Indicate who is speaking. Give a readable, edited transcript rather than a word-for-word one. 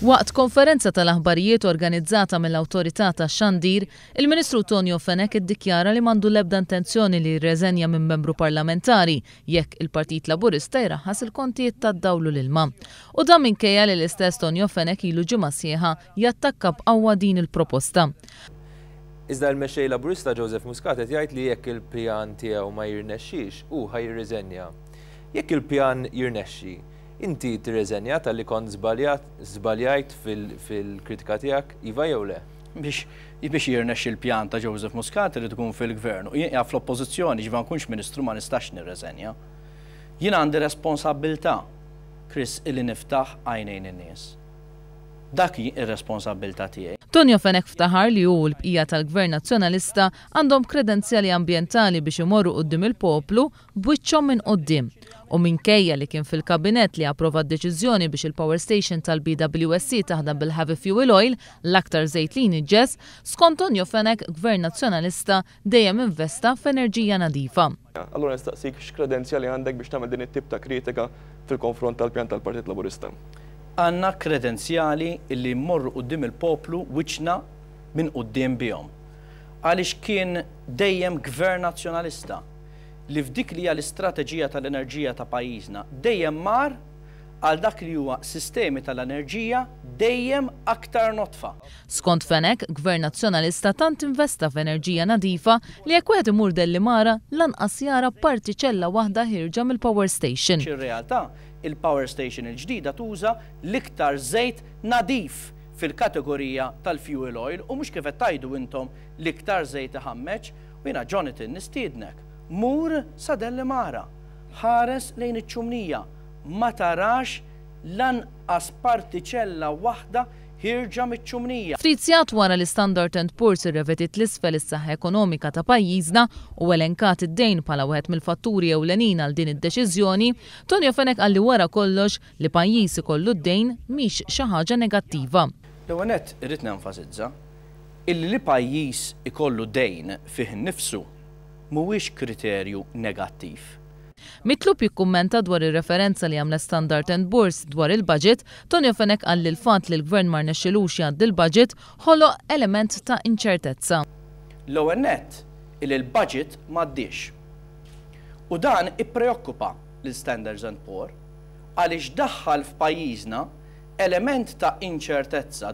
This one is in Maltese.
Speaker 1: Waqt konferenza tal-aħbarijiet organizzata mill-Awtorità tax-Xandir, il-Ministru Tonio Fenech iddikjara li m'għandu l-ebda intenzjoni li jirreżenja minn membru parlamentari jekk il-Partit Laburista jraħħas il-kontijiet tad-dawl u l-ilma. U dan minkejja li l-istess Tonio Fenech ilu ġimgħa sħiħa jattakka b'qawwa din il-proposta.
Speaker 2: Iżda l-Mexxej Laburista Joseph Muscat qed jgħid li jekk il-pjan tiegħu ma jirnexxix, hu ħa jirriżenja. Jekk il-pjan jirnexxi, inti tirreżenja talli kont żbaljat, żbaljajt fil-kritika tiegħek, iva jew le?
Speaker 3: Biex biex jirnexxi l-pjan ta' Joseph Muscat irid ikun fil-gvern u jien qiegħed fl-oppożizzjoni, ġifieri ma nkunx ministru ma nistax nirreżenja. Jien għandi responsabbiltà, Chris, illi niftaħ għajnejn in-nies. Dak hi r-responsabbiltà tiegħi.
Speaker 1: Tonio Fenech ftaħar li hu u l-bqija tal-Gvern Nazzjonalista għandhom kredenzjali ambjentali biex imorru quddiem il-poplu b'wiċċhom minn quddiem. U minkejja li kien fil-Kabinett li approva d-deċiżjoni biex il-power station tal-BWSC taħdem bil-heavy fuel oil, l-aktar żejt li jniġġes, skont Tonio Fenech, Gvern Nazzjonalista dejjem investa f'enerġija nadifa.
Speaker 4: Allura nistaqsik x'kredenzjali għandek biex tagħmel din it-tip ta' kritika fil-konfront tal-pjan tal-Partit Laburista?
Speaker 3: Għandna kredenzjali li mmorru quddiem il-poplu wiċċna minn quddiem bihom. Għaliex kien dejjem Gvern Nazzjonalista li f'dik li hija l-istrateġija tal-enerġija ta' pajjiżna dejjem mar għal dak li huwa sistemi tal-enerġija dejjem aktar nodfa.
Speaker 1: Skont Fenech, Gvern Nazzjonalista tant investa f'enerġija nadifa li jekk wieħed imur Dellimara lanqas jara partiċella waħda ħierġa mill-power station.
Speaker 3: Ir-realtà, il-power station il-ġdida tuża l-iktar żejt nadif fil-kategorija tal-fuel oil u mhux kif qed tgħidu intom l-iktar żejt iħammeġ. U jiena Jonathan nistiednek, mur sa Dellimara, ħares lejn iċ-ċumnija, ma tarax lanqas partiċella waħda ħierġa miċ-ċumnija.
Speaker 1: Ftit sigħat wara li Standard and Poor's irrevediet l-isfel is-saħħa ekonomika ta' pajjiżna u elenkat id-dejn bħala wieħed mill-fatturi ewlenin għal din id-deċiżjoni, Tonio Fenech qal li wara kollox li pajjiż ikollu d-dejn mhix xi ħaġa negattiva.
Speaker 3: L-ewwel nett irrid nenfasizza illi li pajjiż ikollu dejn fih innifsu mhuwiex kriterju negattiv.
Speaker 1: Mitlub jikkummenta dwar ir-referenza li għamlet Standard and Poor's dwar il-budget, Tonio Fenech qal li l-fatt li l-gvern ma rnexxilux jgħaddi l-budget ħoloq element ta' inċertezza.
Speaker 3: L-ewwel nett illi l-budget m'għaddiex. U dan ippreokkupa lil Standards and Poor għaliex daħħal f'pajjiżna element ta' inċertezza.